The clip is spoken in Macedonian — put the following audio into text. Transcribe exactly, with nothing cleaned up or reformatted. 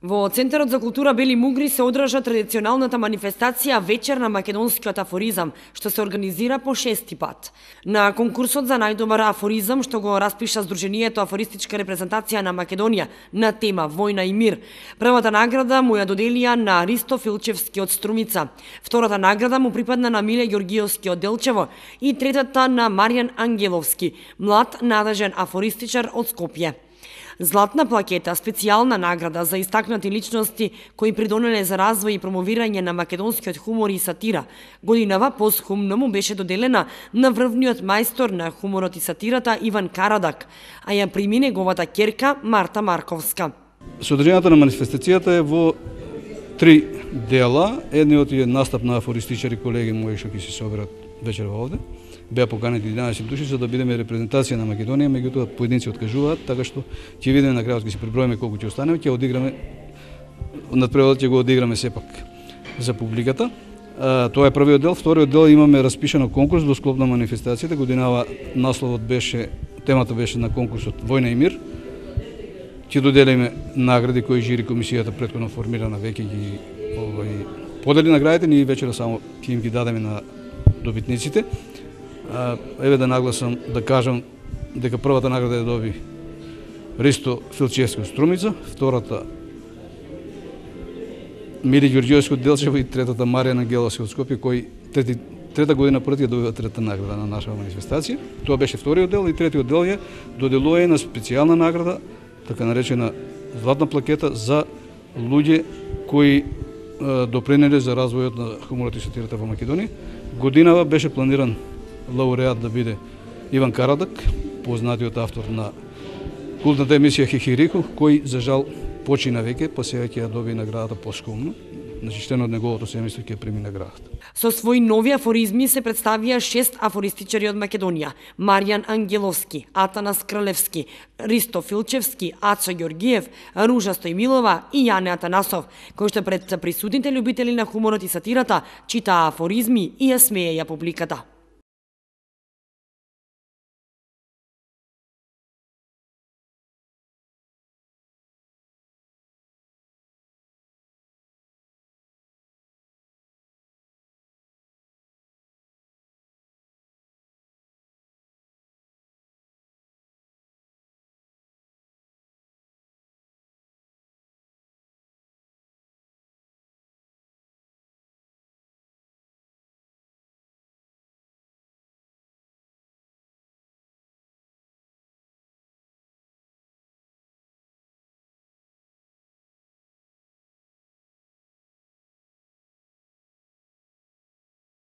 Во Центарот за култура Бели Мугри се одржа традиционалната манифестација Вечер на македонскиот афоризам, што се организира по шести пат. На конкурсот за најдобар афоризам, што го распиша Сдруженијето Афористичка репрезентација на Македонија на тема Војна и мир, првата награда му ја доделија на Ристо Филчевски од Струмица, втората награда му припадна на Миле Ѓоргиевски од Делчево и третата на Маријан Ангеловски, млад надежен афористичар од Скопје. Златна плакета, специјална награда за истакнати личности кои придонеле за развој и промовирање на македонскиот хумор и сатира, годинава посхумно му беше доделена на врвниот мајстор на хуморот и сатирата Иван Карадак, а ја прими неговата ќерка Марта Марковска. Содржината на манифестацијата е во три дела. Едниот е настап на афористичари колеги мои што ќе се соберат вечерва овде. Беа поканети единаесет души за да бидеме репрезентација на Македонија, меѓутоа поединци откажуваат, така што ќе видиме на крајот, ќе се преброиме колку ќе останеме, ќе одиграме надпреводот ќе го одиграме сепак за публиката. А, тоа е првиот дел. Вториот дел имаме распишано конкурс во склоп на манифестацијата. Годинава насловот беше, темата беше на конкурсот Војна и мир. Ќе доделиме награди кои жири комисијата претходно формирана веќе ги овој подели наградите, ние вечера само ќе им ги дадеме на добитниците. Еве да нагласам, да кажам дека првата награда ја доби Ристо Филчевски од Струмица, втората Миле Ѓоргиевски од Делчево и третата Маријан Ангеловски од Скопје, кој трети, трета година поред ја добива третата награда на нашава манифестација. Тоа беше вториот дел и третиот дел е доделување на специјална награда, така наречена златна плакета за луѓе кои допринеле за развојот на хуморот и сатирата во Македонија. Годинава беше планиран лауреат да биде Иван Карадак, познатиот автор на култната емисија Хихирику, кој за жал почина веќе, па сега ќе ја доби наградата поскумно. Начиштено од неговото семејство ќе прими наградата. Со своји нови афоризми се представија шест афористичари од Македонија: Маријан Ангеловски, Атанас Кралевски, Ристо Филчевски, Ацо Ѓоргиев, Ружа Стојмилова и Јане Атанасов, кои што пред присутните љубители на хуморот и сатирата читаа афоризми и ја смееја публиката.